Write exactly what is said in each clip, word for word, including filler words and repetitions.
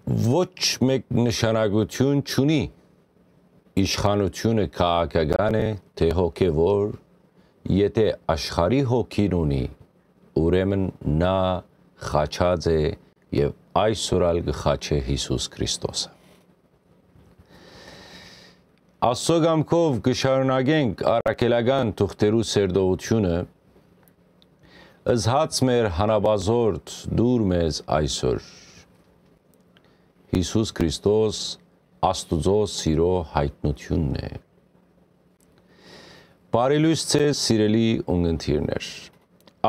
Ոչ մէկ նշանակութիւն չունի իշխանութիւնը քաղաքական է, թէ հոգեւոր, եթէ աշխարհի հոգին ունի, ուրեմն նա խաչած է եւ այսօր ալ կը խաչէ Յիսուս Քրիստոսը։ Աստծո կամքով կը շարունակենք առաքելական թուղթերու սերտողութիւնը, զհաց մեր հանապազորդ դուր մեզ այսօր։ Յիսուս Քրիստոս Աստուծոյ սիրոյ յայտնութիւնն է։ Բարի լոյս ձեզ, սիրելի ունգընտիրներ։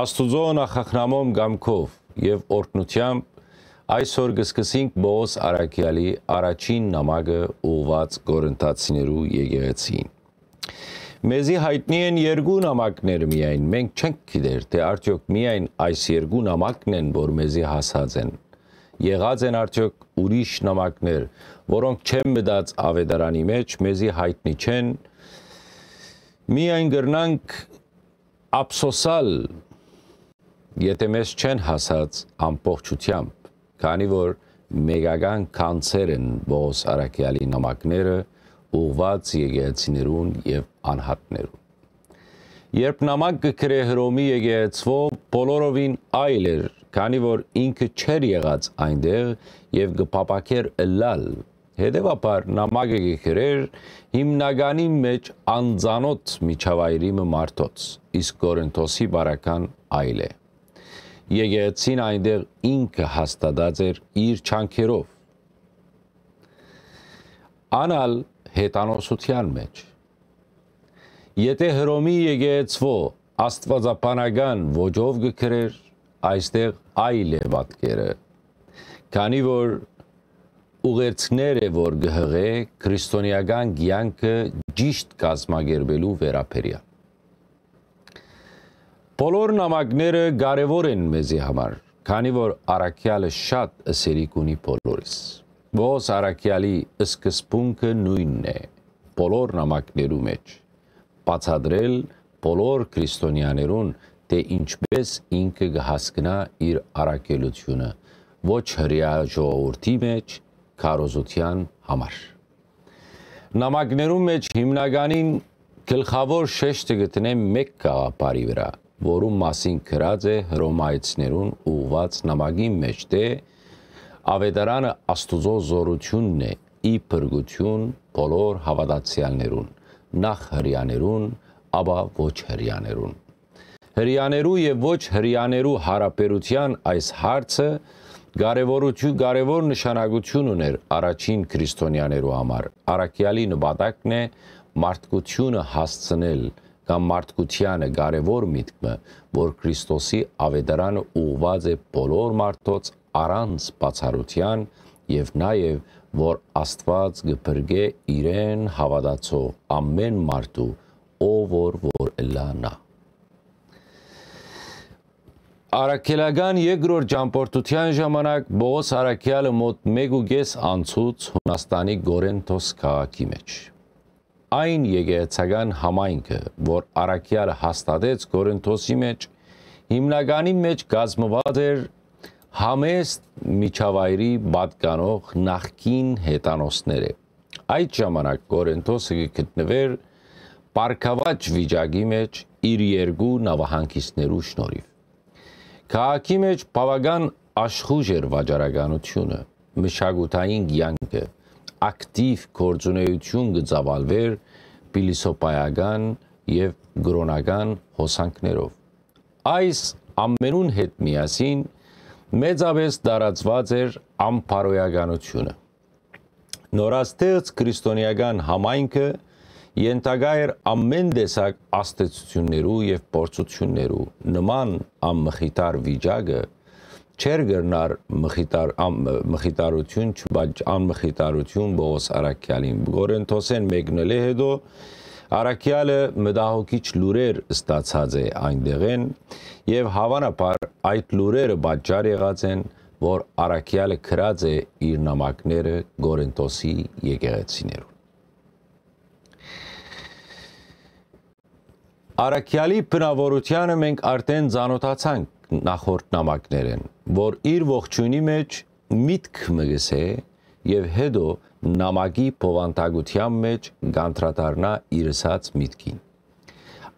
Աստուծոյ նախախնամոյն կամքով եւ օրհնութեամբ այսօր կը սկսենք Պողոս առաքեալի առաջին նամակը ուղղուած Կորինթացիներու եկեղեցիին։ Մեզի յայտնի են երկու նամակներ միայն, մենք չենք գիտեր, թէ արդեօք միայն այս երկու նամակն են, որ մեզի հասած են։ Եղած են արդեօք ուրիշ նամակներ, որոնք չեն մտած աւետարանի մէջ, մեզի յայտնի չեն։ Միայն կրնանք ափսոսալ, եթէ մեզ չեն հասած ամբողջութեամբ, քանի որ մեկական գանձեր են Պողոս առաքեալի նամակները ուղղուած եկեղեցիներուն եւ անհատներուն։ Երբ նամակ կը գրէ Հռոմի եկեղեցւոյ, բոլորովին այլ էր, քանի որ ինքը չէր եղած այնտեղ եւ կը փափաքէր ըլլալ։ Հետեւաբար նամակը կը գրէր հիմնականի մէջ անծանօթ միջավայրի մը մարդոց, իսկ Կորինթոսի բարական այլ է։ Եկեղեցին այնտեղ ինքը հաստատած էր իր չանքերով։ Ան ալ հեթանոսութեան մէջ։ Եթէ Հռոմի եկեղեցւոյ աստուածաբանական ոճով կը գրէր, այստեղ այլ է պատկերը, քանի որ ուղերձներ է, որ կը հղէ քրիստոնեական կեանքը ճիշտ կազմակերպելու վերաբերեալ։ Բոլոր նամակները կարեւոր են մեզի համար, քանի որ առաքեալը շատ ըսելիք ունի բոլորիս։ Պողոս առաքեալի սկզբունքը նոյնն է բոլոր նամակներու մէջ, բացատրել բոլոր քրիստոնեաներուն, թէ ինչպէս ինքը կը հասկնայ իր առաքելութիւնը, ոչ հրեայ ժողովուրդի մէջ քարոզութեան համար։ Նամակներուն մէջ հիմնականին գլխաւոր շեշտը գտնենք մէկ գաղափարի վրայ, որուն մասին գրած է Հռոմայեցիներուն ուղղուած նամակին մէջ, թէ Աւետարանը Աստուծոյ զօրութիւնն է ի փրկութիւն բոլոր հաւատացեալներուն, նախ հրեաներուն, ապա ոչ հրեաներուն։ Հրեաներու եւ ոչ հրեաներու յարաբերութեան այս հարցը կարեւորութիւն, կարեւոր նշանակութիւն ունէր առաջին քրիստոնեաներու համար։ Առաքեալի նպատակն է մարդկութիւնը հասցնել կամ մարդկութեանը կարեւոր միտքը, որ Քրիստոսի աւետարանը ուղղուած է բոլոր մարդոց առանց բացառութեան եւ նաեւ որ Աստուած կը փրկէ իրեն հաւատացող ամէն մարդու, ով որ որ ըլլայ նա։ Առաքելական երկրորդ ճամբորդութեան ժամանակ Պողոս առաքեալը մօտ մէկ ու կէս անցուց Յունաստանի Կորինթոս քաղաքի մէջ։ Այն եկեղեցական համայնքը, որ առաքեալը հաստատեց Կորինթոսի մէջ, հիմնականի մէջ կազմուած էր համեստ միջավայրի պատկանող նախկին հեթանոսները։ Այդ ժամանակ Կորինթոսը կը գտնուէր բարգաւաճ վիճակի մէջ իր երկու նաւահանգիստներու շնորհիվ։ Քաղաքի մէջ բաւական աշխուժ էր վաճառականութիւնը, մշակութային կեանքը, ակտիվ գործունեութիւն կը ծաւալուէր փիլիսոփայական եւ կրօնական հոսանքներով։ Այս ամենուն հետ միասին մեծապէս տարածուած էր անբարոյականութիւնը։ Նորաստեղծ քրիստոնեական համայնքը ենթակայ էր ամէն տեսակ ազդեցութիւններու եւ փորձութիւններու։ Նման անմխիթար վիճակը չէր կրնար մխիթար-, ան-, մխիթարութիւն չպաճ-, անմխիթարութիւն Պողոս առաքեալին։ Կորինթոսէն մեկնելէ հետո առաքեալը մտահոգիչ լուրեր ստացած է այնտեղէն եւ հաւանաբար այդ լուրերը պատճառ եղած են, որ առաքեալը գրած է իր նամակները Կորինթոսի եկեղեցիներուն։ Առաքեալի բնաւորութեանը մենք արդեն ծանօթացանք նախորդ նամակներէն, որ իր ողջոյնի մէջ միտք մը կ'ըսէ եւ յետոյ նամակի բովանդակութեան մէջ կ'անդրադառնայ իր ըսած միտքին։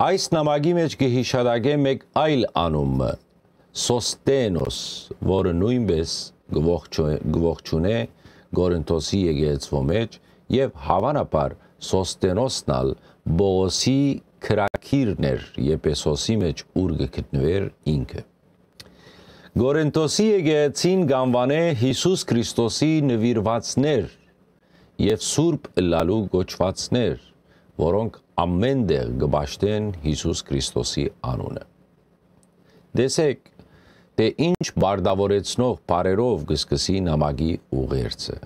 Այս նամակի մէջ կը յիշատակէ մէկ այլ անուն մը, Սոսթենոս, որը նոյնպէս կը ողջու-, կը ողջունէ Կորինթոսի եկեղեցւոյ մէջ եւ հաւանաբար Սոսթենոսն ալ Պողոսի քրագիրն էր Եփեսոսի մէջ, ուր կը գտնուէր ինքը։ Կորինթոսի եկեղեցին կ'անուանէ Յիսուս Քրիստոսի նուիրուածներ եւ սուրբ ըլլալու կոչուածներ, որոնք ամէն տեղ կը պաշտեն Յիսուս Քրիստոսի անունը։ Տեսէք, թէ ինչ պարտաւորեցնող բառերով կը սկսի նամակի ուղերձը։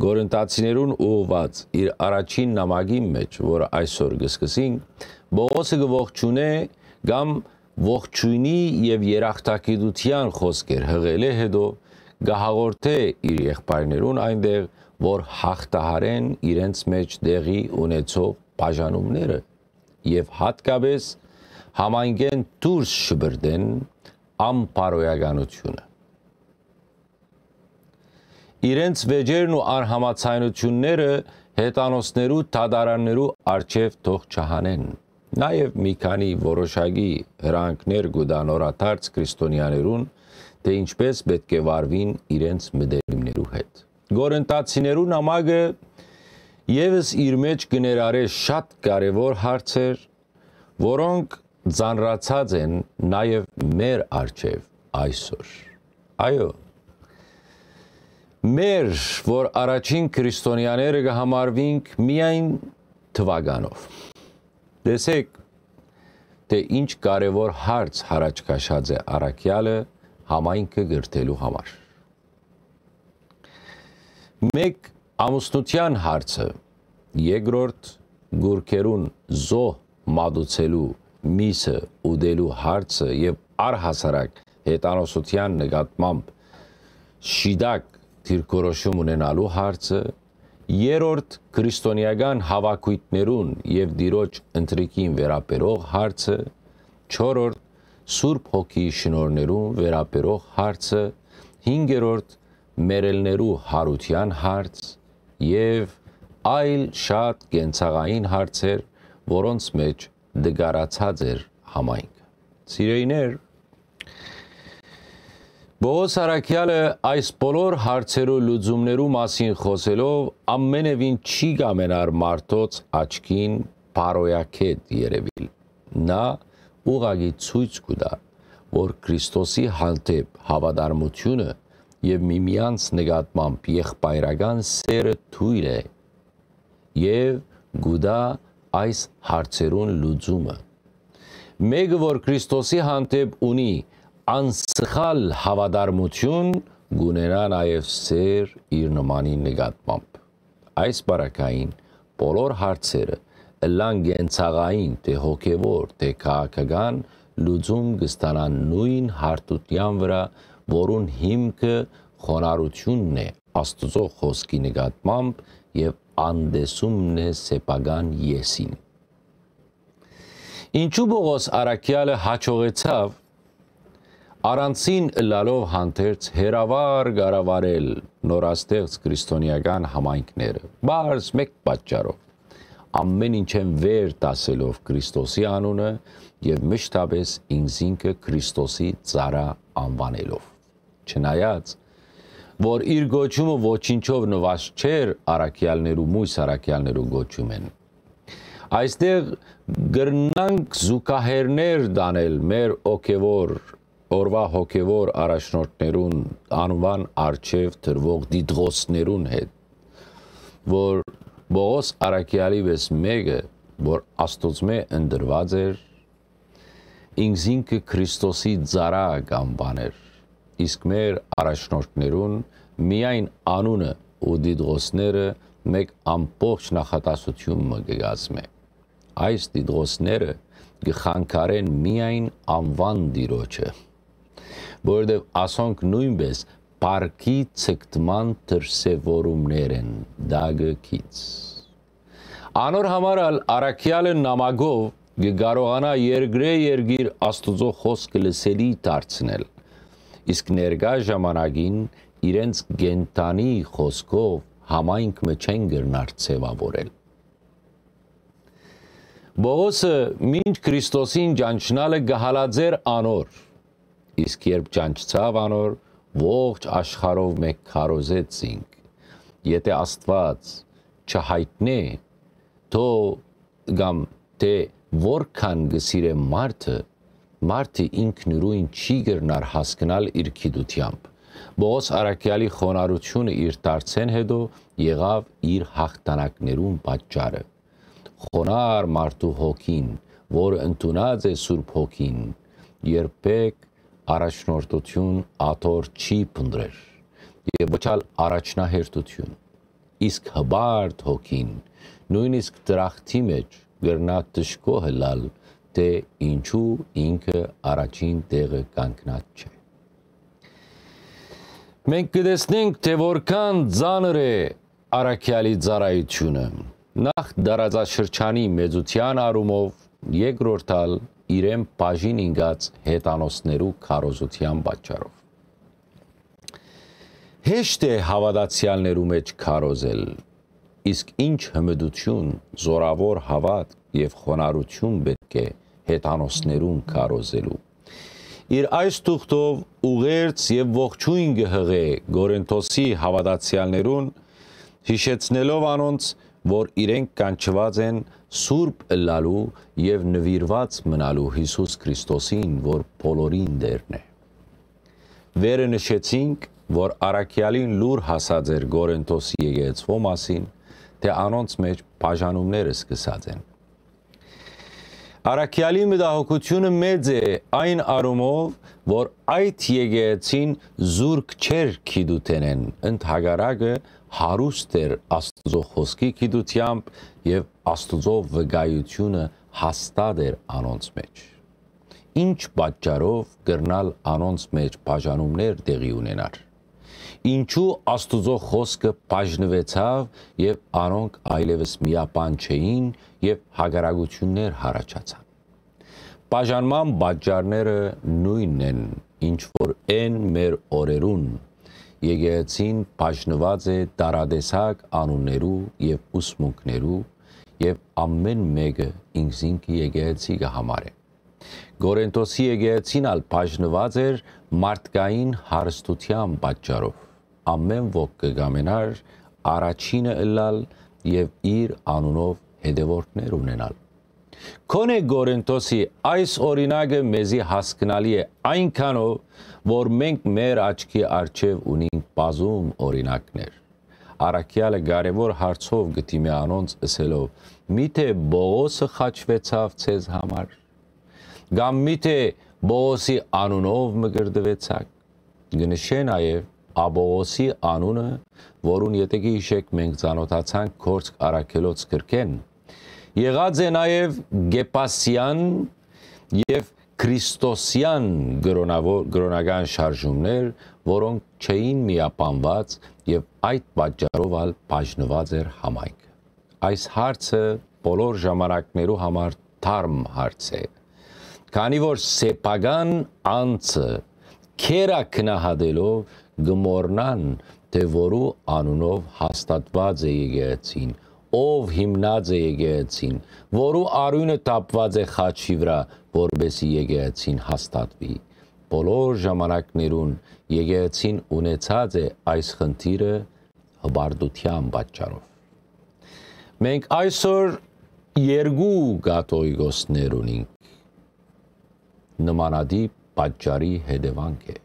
Կորինթացիներուն ուղղուած իր առաջին նամակին մէջ, որը այսօր կը սկսենք, Պողոսը կը ողջունէ կամ ողջոյնի եւ երախտագիտութեան խօսքեր յղելէ յետոյ, կը հաղորդէ իր եղբայրներուն այնտեղ, որ յաղթահարեն իրենց մէջ տեղի ունեցող բաժանումները եւ յատկապէս համայնքէն դուրս շպրտեն անբարոյականությունը։ Իրենց վեճերն ու անհամաձայնությունները հեթանոսներու դատարաններու առջեւ թող չհանեն։ Նաեւ մի քանի որոշակի հրահանգներ կու տայ նորադարձ քրիստոնեաներուն, թէ ինչպէս պէտք է վարուին իրենց մտերիմներու հետ։ Կորինթացիներու նամակը եւս իր մէջ կը ներառէ շատ կարեւոր հարցեր, որոնք ծանրացած են նաեւ մեր առջեւ այսօր։ Այո, մեր, որ առաջին քրիստոնեաները կը համարուինք միայն թուականով։ Տեսէք, թէ ինչ կարեւոր հարց յառաջ քաշած է առաքեալը համայնքը կրթելու համար։ Մէկ, ամուսնութեան հարցը, երկրորդ, գուրգերուն զոհ մատուցելու, միսը ուտելու հարցը եւ առհասարակ հեթանոսութեան նկատմամբ շիտակ դիրքորոշում ունենալու հարցը, երրորդ, քրիստոնեական հաւաքոյթներուն եւ Տիրոջ ընթրիքին վերաբերող հարցը, չորրորդ, Սուրբ Հոգիի շնորհներուն վերաբերող հարցը, հինգերորդ, մեռելներու յարութեան հարց եւ այլ շատ կենցաղային հարցեր, որոնց մէջ տկարացած էր համայնքը։ Սիրելիներ, Պողոս առաքեալը այս բոլոր հարցերու լուծումներու մասին խօսելով ամենեւին չի կամենար մարդոց աչքին բարոյակետ երեւիլ։ Նա ուղղակի ցոյց կու տայ, որ Քրիստոսի հանդէպ հաւատարմութիւնը եւ միմեանց նկատմամբ եղբայրական սէրը թոյլ է եւ կու տայ այս հարցերուն լուծումը։ Մէկը, որ Քրիստոսի հանդէպ ունի անսխալ հաւատարմութիւն, կունենայ նաեւ սէր իր նմանին նկատմամբ։ Այս պարագային բոլոր հարցերը, ըլլան կենցաղային, թէ հոգեւոր, թէ քաղաքական, լուծում կը ստանան նոյն հարթութեան վրայ, որուն հիմքը խոնարհութիւնն է Աստուծոյ խօսքի նկատմամբ եւ անտեսումն է սեփական եսին։ Ինչու Պողոս առաքեալը յաջողեցաւ առանձին ըլլալով հանդերձ հեռավար կառավարել նորաստեղծ քրիստոնեական համայնքները, պարզ մէկ պատճառով, ամէն ինչէն վեր դասելով Քրիստոսի անունը եւ մշտապէս ինքզինքը Քրիստոսի ծառայ անուանելով։ Չնայած, որ իր կոչումը ոչինչով նուազ չէր առաքեալներու, մոյս առաքեալներու կոչումէն։ Այստեղ կրնանք զուգահեռներ տանել մեր հոգեվոր, օրվա հոգեվոր առաջնորդներուն անուան առջեւ դրուող դիտողներուն հետ, որ Պողոս առաքեալի վեց մէկը, որ Աստուծմէ ընտրուած էր, ինքզինքը Քրիստոսի ծառայ կ'անուանէր, իսկ մեր առաջնորդներուն միայն անունը ու դիտողները մէկ ամբողջ նախատասութիւն մը կը կազմէ։ Այս դիտողները կը խանգարեն միայն անուան Տիրոջը, որովհետեւ ասոնք նոյնպէս փառքի ցկտման դրսեւորումներ են, տակը գիծ։ Անոր համար ալ առաքեալը նամակով կը կարողանայ երկրէ երկիր Աստուծոյ խօսքը լսելի դարձնել, իսկ ներկայ ժամանակին իրենց կենդանի խօսքով համայնք մը չեն կրնար ձեւաւորել։ Պողոսը մինչ Քրիստոսին ճանչնալը կը հալածէր անոր, իսկ երբ ճանչցաւ անոր, ողջ աշխարհով մէկ քարոզեց զինք։ Եթէ Աստուած չհայտնէ, թող կամ թէ որքան կը սիրէ մարդը, մարդը ինքնուրույն չի կրնար հասկնալ իր գիտությամբ։ Պողոս առաքեալի խոնարհութիւնը իր դարձէն յետոյ եղաւ իր յաղթանակներուն պատճառը։ Խոնար մարդու հոգին, որ ընդունած է Սուրբ Հոգին, երբեք առաջնորդութիւն աթոռ չի փնտռեր եւ ոչ ալ առաջնահերթութիւն, իսկ հպարտ հոգին, նոյնիսկ դրախտի մէջ կրնայ դժգոհ ըլլալ, թէ ինչու ինքը առաջին տեղը կանգնած չէ։ Մենք կը տեսնենք, թէ որքան ծանր է առաքեալի ծառայութիւնը, նախ տարածաշրջանի մեծութեան առումով, երկրորդ ալ իրեն բաժին ինկած հեթանոսներու քարոզութեան պատճառով։ Հեշտ է հաւատացեալներու մէջ քարոզել, իսկ ինչ հմտութիւն, զօրաւոր հաւատք եւ խոնարհութիւն պէտք է հեթանոսներուն քարոզելու։ Իր այս թուղթով ուղերձ եւ ողջոյն կը յղէ Կորինթոսի հաւատացեալներուն, յիշեցնելով անոնց, որ իրենք կանչուած են սուրբ ըլլալու եւ նուիրուած մնալու Յիսուս Քրիստոսին, որ բոլորին Տէրն է։ Վերը նշեցինք, որ առաքեալին լուր հասած էր Կորինթոսի եկեղեցւոյ մասին, թէ անոնց մէջ բաժանումներ սկսած են։ Առաքեալի մտահոգութիւնը մեծ է այն առումով, որ այդ եկեղեցին զուրկ չէր գիտութենէն, ընդհակառակը հարուստ էր Աստուծոյ խօսքի գիտութեամբ եւ Աստուծոյ վկայութիւնը հաստատ էր անոնց մէջ։ Ինչ պատճառով կրնալ անոնց մէջ բաժանումներ տեղի ունենար։ Ինչու Աստուծոյ խօսքը բաժնուեցաւ եւ անոնք այլեւս միապան չէին եւ հակառակութիւններ յառաջացան։ Բաժանման պատճառները նոյնն են, ինչ որ են մեր օրերուն։ Եկեղեցին բաժնուած է տարատեսակ անուններու եւ ուսմունքներու եւ ամէն մէկը ինքզինքը եկեղեցի կը համարէ։ Կորինթոսի եկեղեցին ալ բաժնուած էր մարդկային հարստութեան պատճառով։ Ամէն ոք կը կամենար առաջինը ըլլալ եւ իր անունով հետեւորդներ ունենալ։ Գոնէ Կորինթոսի այս օրինակը մեզի հասկնալի է այնքանով, որ մենք մեր աչքի առջեւ ունինք բազում օրինակներ։ Առաքեալը կարեւոր հարցով կը դիմէ անոնց ըսելով. «Միթէ Պողոսը խաչուեցաւ ձեզ համար»։ Կամ միթէ Պողոսի անունով մկրտուեցաք։ Կը նշէ նաեւ Աբողոսի անունը, որուն յետոյ կը յիշէք մենք ծանօթացանք Գործք առաքելոց գրքէն։ Եղած է նաեւ Կեպասեան եւ Քրիստոսեան կրոնաւոր-, կրոնական շարժումներ, որոնք չէին միապանուած եւ այդ պատճառով ալ բաժնուած էր համայնքը։ Այս հարցը բոլոր ժամանակներու համար թարմ հարց է, քանի որ սեփական անձը քերա գնահատելով կը մոռնան, թէ որու անունով հաստատուած է եկեղեցին, ով հիմնած է եկեղեցին, որու արիւնը թափուած է խաչի վրայ, որպէսզի եկեղեցին հաստատուի։ Բոլոր ժամանակներուն եկեղեցին ունեցած է այս խնդիրը հպարտութեան պատճառով։ Մենք այսօր երկու կաթողիկոսներ ունինք։ Նմանատիպ պատճառի հետեւանք է։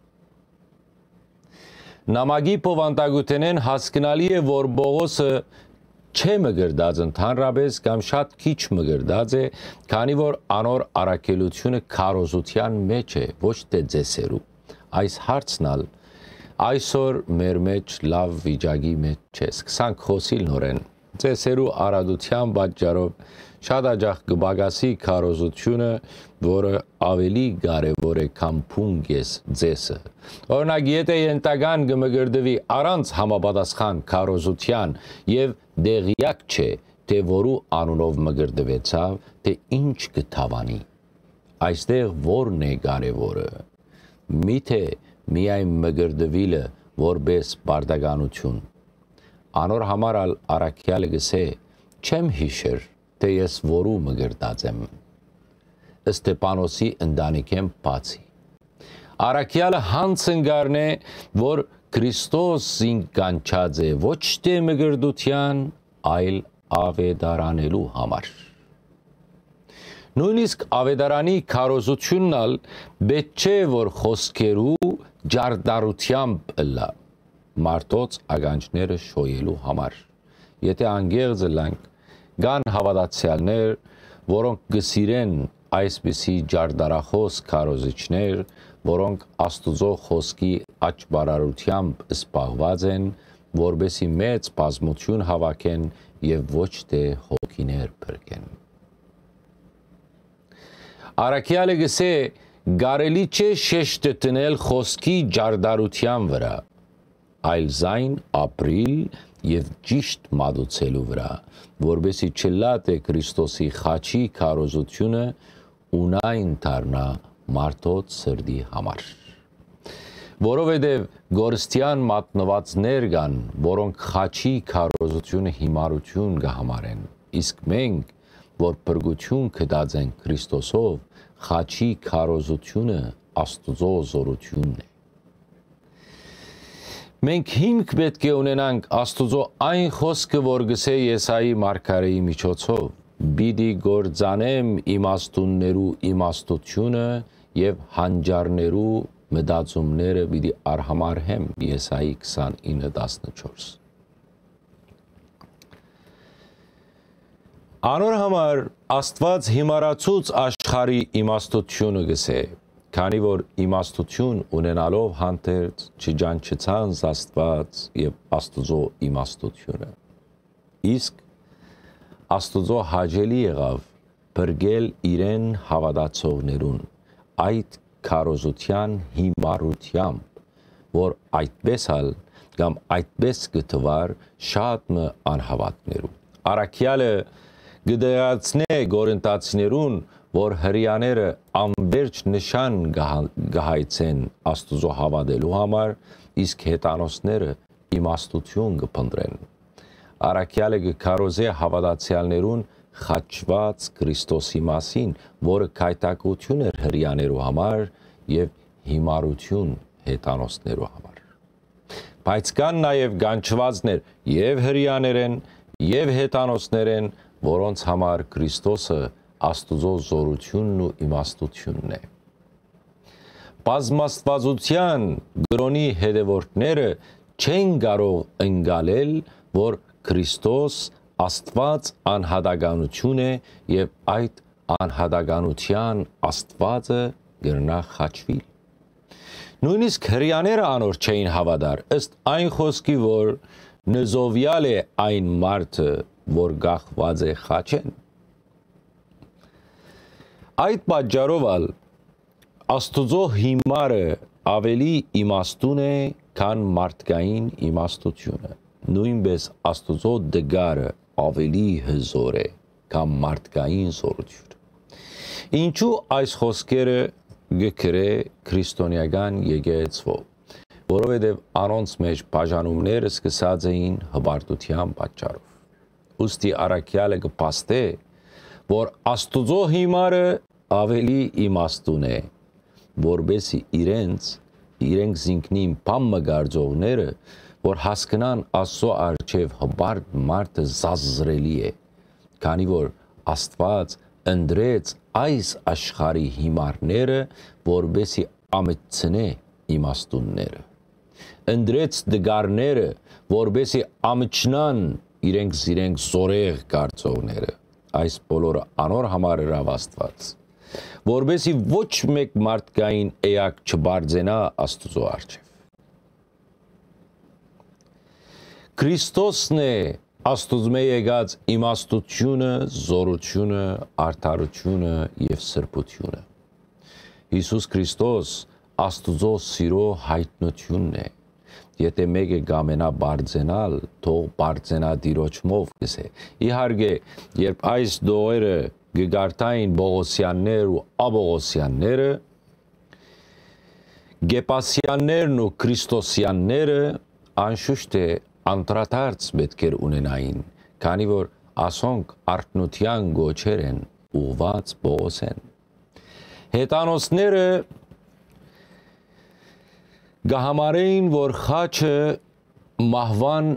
Նամակի բովանդակութենէն հասկնալի է, որ Պողոսը չէ մկրտած ընդհանրապես կամ շատ քիչ մկրտած է, քանի որ անոր առաքելութիւնը քարոզութեան մէջ է, ոչ թէ ծեսերու։ Այս հարցն ալ այսօր մեր մէջ լաւ վիճակի մէջ չէ։ Սկսանք խօսիլ նորէն։ Ծեսերու արատութեան պատճառով շատ աջախ կը պակասի քարոզութիւնը, որը աւելի կարեւոր է, քան փունկես ծեսը։ Օրինակ, եթէ ենթական կը մկրտուի առանց համապատասխան քարոզութեան եւ տեղեակ չէ, թէ որու անունով մկրտուեցաւ, թէ ինչ կը դաւանի։ Այստեղ ո՞րն է կարեւորը։ Միթէ միայն մկրտուիլը որպէս պարտականութիւն։ Անոր համար ալ առաքեալը կ'ըսէ. «Չեմ յիշեր թէ ես որու մկրտած եմ»։ Ստեփանոսի ընտանիքէն բացի։ Առաքեալը յանձն կ'առնէ, որ Քրիստոս զինք կանչած է ոչ թէ մկրտութեան, այլ աւետարանելու համար։ Նոյնիսկ աւետարանի քարոզութիւնն ալ պէտք չէ, որ խօսքերու ջարդարութեամբ ըլլայ, մարդոց ականջները շոյելու համար։ Եթէ անկեղծ ըլլանք, կան հաւատացեալներ, որոնք կը սիրեն այսպիսի ջարդարախօս քարոզիչներ, որոնք Աստուծոյ խօսքի աճպարարութեամբ զբաղուած են, որպէսզի մեծ բազմութիւն հաւաքեն եւ ոչ թէ հոգիներ փրկեն։ Առաքեալը կ'ըսէ. «Կարելի չէ շեշտը դնել խօսքի ջարդարութեան վրայ, այլ զայն ապրիլ եւ ճիշդ մատուցելու վրայ, որպէսզի չըլլայ թէ Քրիստոսի խաչի քարոզութիւնը ունայն դառնայ մարդոց սրտի համար»։ Որովհետեւ կորստեան մատնուածներ կան, որոնք խաչի քարոզութիւնը յիմարութիւն կը համարեն, իսկ մենք, որ փրկութիւն գտած ենք Քրիստոսով, խաչի քարոզութիւնը Աստուծոյ զօրութիւնն է։ Մենք հիմք պէտք է ունենանք Աստուծոյ այն խօսքը, որ կ'ըսէ Եսայի մարգարէի միջոցով. «Պիտի կործանեմ իմաստուններու իմաստութիւնը եւ հանճարներու մտածումները պիտի արհամարհեմ»։ Եսայի քսանինը տասնչորս։ Անոր համար Աստուած յիմարացուց աշխարհի իմաստութիւնը կ'ըսէ, քանի որ իմաստութիւն ունենալով հանդերձ չճանչցան Աստուած եւ Աստուծոյ իմաստութիւնը։ Իսկ Աստուծոյ հաճելի եղաւ փրկել իրեն հաւատացողներուն այդ քարոզութեան յիմարութեամբ, որ այդպէս ալ կամ այդպէս կը թուար շատ մը անհաւատներու։ Առաքեալը կը դեղացնէ կորինթացիներուն, որ հրեաները անվերջ նշան կը հա-, կը հայցեն Աստուծոյ հաւատելու համար, իսկ հեթանոսները իմաստութիւն կը փնտռեն։ Առաքեալը կը քարոզէ հաւատացեալներուն խաչուած Քրիստոսի մասին, որը գայթակղութիւն էր հրեաներու համար եւ յիմարութիւն հեթանոսներու համար։ Բայց կան նաեւ կանչուածներ եւ հրեաներէն, եւ հեթանոսներէն, որոնց համար Քրիստոսը Աստուծոյ զօրութիւնն ու իմաստութիւնն է։ Բազմաստուածութեան կրօնի հետեւորդները չեն կարող ընկալել, որ Քրիստոս Աստուած անհատականութիւն է եւ այդ անհատականութեան Աստուածը կրնայ խաչուիլ։ Նոյնիսկ հրեաները անոր չէին հաւատար, ըստ այն խօսքի, որ նզովեալ է այն մարդը, որ կախուած է խաչէն։ Այդ պատճառով ալ Աստուծոյ յիմարը աւելի իմաստուն է, քան մարդկային իմաստութիւնը։ Նոյնպէս Աստուծոյ տկարը աւելի հզօր է, քան մարդկային զօրութիւնը։ Ինչո՞ւ այս խօսքերը կը գրէ քրիստոնեական եկեղեցւոյ, որովհետեւ անոնց մէջ բաժանումները սկսած էին հպարտութեան պատճառով։ Ուստի առաքեալը կը փաստէ, որ Աստուծոյ յիմարը աւելի իմաստուն է, որպէսզի իրենց, իրենք զինքնին բան մը կարծողները, որ հասկնան Աստուծոյ առջեւ հպարտ մարդը զազրելի է, քանի որ Աստուած ընտրեց այս աշխարհի յիմարները, որպէսզի ամիջցնէ իմաստունները։ Ընտրեց տկարները, որպէսզի ամիջնան իրենք զիրենք զորեղ կարծողները։ Այս բոլորը անոր համար ըրաւ Աստուած, որպէսզի ոչ մէկ մարդկային էակ չբարձենայ Աստուծոյ առջեւ։ Քրիստոսն է Աստուծմէ եկած իմաստութիւնը, զօրութիւնը, արդարութիւնը եւ սրբութիւնը։ Յիսուս Քրիստոս Աստուծոյ սիրոյ յայտնութիւնն է։ Եթէ մէկը կամենայ բարձենալ, թող բարձենայ Տիրոջմով, կ'ըսէ։ Իհարկե, երբ այս տողերը կը կարդային Պողոսեաններ ու Աբողոսեանները, Կեպասեաններն ու Քրիստոսեանները անշուշտ է անդրադարձ պէտք էր ունենային, քանի որ ասոնք արթնութեան կոչեր են ուղղուած Պողոսէն։ Հեթանոսները կը համարէին, որ խաչը մահուան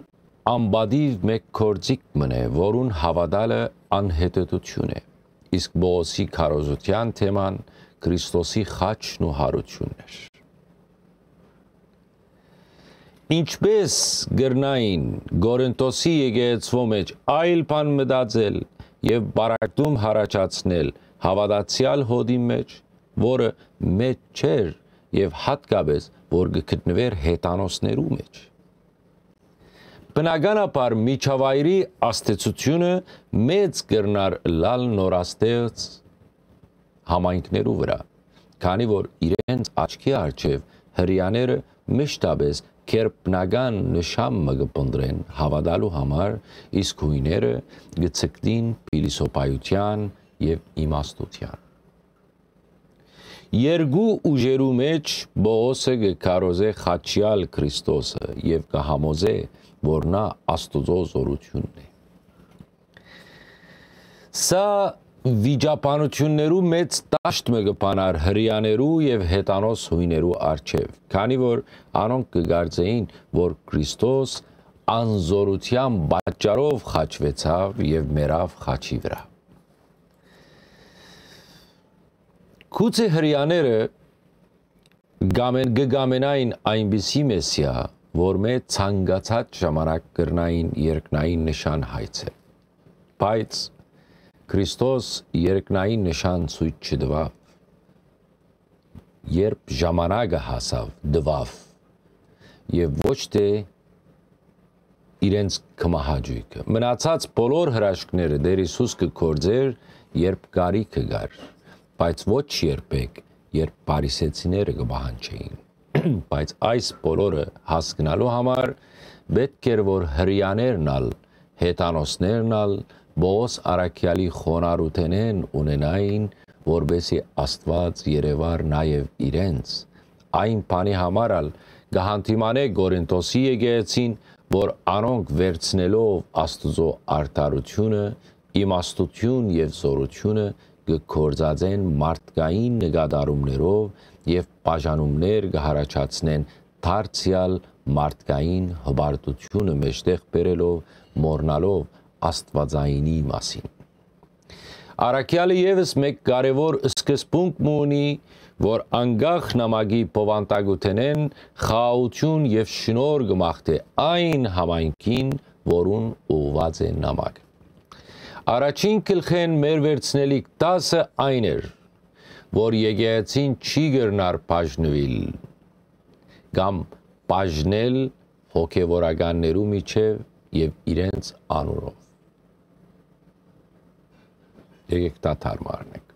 անպատիւ մէկ գործիք մըն է, որուն հաւատալը անհետեթութիւն է, իսկ Պողոսի քարոզութեան թեման Քրիստոսի խաչն ու յարութիւնն էր։ Ինչպէս կրնային Կորինթոսի եկեղեցւոյ մէջ այլ բան մտածել եւ պառակտում յառաջացնել հաւատացեալ հօդի մէջ, որը մէջ չէր եւ յատկապէս որ կը գտնուէր հեթանոսներու մէջ։ Բնականաբար միջավայրի ազդեցութիւնը մեծ կրնար ըլլալ նորաստեղծ համայնքներու վրայ, քանի որ իրենց աչքի առջեւ հրեաները մշտապէս գերբնական նշան մը կը փնտռեն հաւատալու համար, իսկ յոյները կը ձգտին փիլիսոփայութեան եւ իմաստութեան։ Երկու ուժերու մէջ Պողոսը կը քարոզէ խաչեալ Քրիստոսը եւ կը համոզէ, որ նա Աստուծոյ զօրութիւնն է։ Սա վիճաբանութիւններու մեծ դաշտ մը կը բանար հրեաներու եւ հեթանոս յոյներու առջեւ, քանի որ անոնք կը կարծէին, որ Քրիստոս անզօրութեան պատճառով խաչուեցաւ եւ մեռաւ խաչի վրայ։ Գուցե հրեաները կամեն-, կը կամենային այնպիսի Մեսիա, որմէ ցանկացած ժամանակ կրնային երկնային նշան հայցել։ Բայց Քրիստոս երկնային նշան ցոյց չտուաւ, երբ ժամանակը հասաւ, տուաւ, եւ ոչ թէ իրենց կմահաճոյքը։ Մնացած բոլոր հրաշքները Տէր Յիսուս կը գործէր, երբ կարիքը կար, բայց ոչ երբեք, երբ փարիսեցիները կը պահանջէին։ Բայց այս բոլորը հասկնալու համար պէտք էր, որ հրեաներն ալ, հեթանոսներն ալ Պողոս առաքեալի խոնարհութենէն ունենային, որպէսզի Աստուած երեւար նաեւ իրենց, այն բանի համար ալ կը հանդիմանէ Կորինթոսի եկեղեցին, որ անոնք վերցնելով Աստուծոյ արդարութիւնը, իմաստութիւն եւ զօրութիւնը կը գործածեն մարդկային նկատառումներով եւ բաժանումներ կը յառաջացնեն դարձեալ մարդկային հպարտութիւնը մէջտեղ բերելով, մոռնալով աստուածայինի մասին։ Առաքեալը եւս մէկ կարեւոր սկզբունք մը ունի, որ անկախ նամակի բովանդակութենէն խաղաղութիւն եւ շնորհ կը մաղթէ այն համայնքին, որուն ուղղուած է նամակը։ Առաջին գլխէն մեր վերցնելիք դասը այն էր, որ եկեղեցին չի կրնար բաժնուիլ կամ բաժնել հոգեվորականներու միջեւ եւ իրենց անունով։ Եկեք դադար մը առնենք։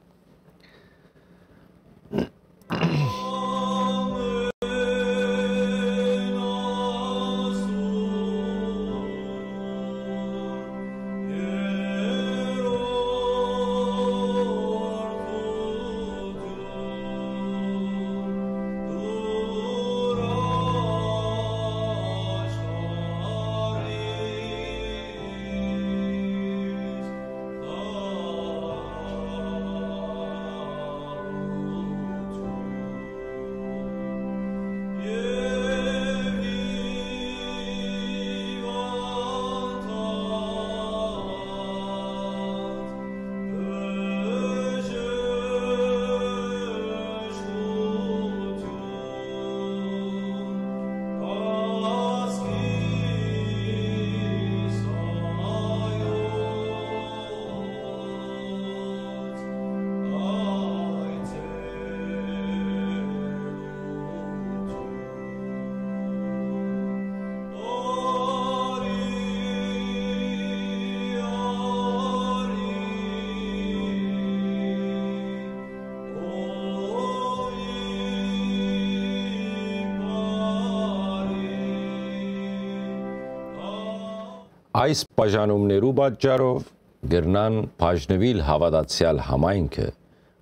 Այս բաժանումներու պատճառով կրնան բաժնուիլ հաւատացեալ համայնքը,